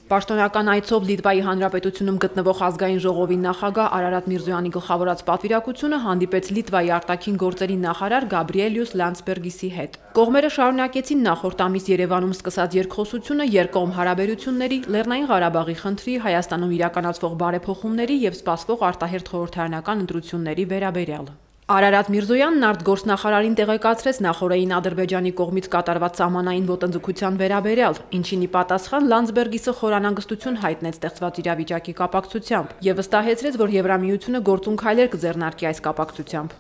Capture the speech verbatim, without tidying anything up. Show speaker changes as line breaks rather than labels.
Պաշտոնական այցով Լիտվայի Հանրապետությունում գտնվող ազգային ժողովի նախագահ Արարատ Միրզոյանի գլխավորած պատվիրակությունը հանդիպեց Լիտվայի արտաքին գործերի նախարար Գաբրիելյուս Լանdsբերգիսի հետ։ Կողմերը շարունակեցին նախորդ ամիս Երևանում սկսած երկխոսությունը երկկողմ հարաբերությունների, Լեռնային Ղարաբաղի խնդրի, Հայաստանում իրականացվող բարեփոխումների եւ սպասվող արտահերթ խորհրդարանական ընտրությունների վերաբերյալ։ Արարատ Միրզոյանն արտգործնախարարին տեղեկացրեց նախօրեին Ադրբեջանի կողմից կատարված սահմանային ոտնձգության վերաբերյալ, ինչին ի պատասխան Լանdsբերգիսը խորանանգստություն հայտնեց ստեղծված իրավիճակի կապակցությամբ եւ վստահեցրեց, որ Եվրամիությունը գործուն քայլեր կձեռնարկի այս կապակցությամբ։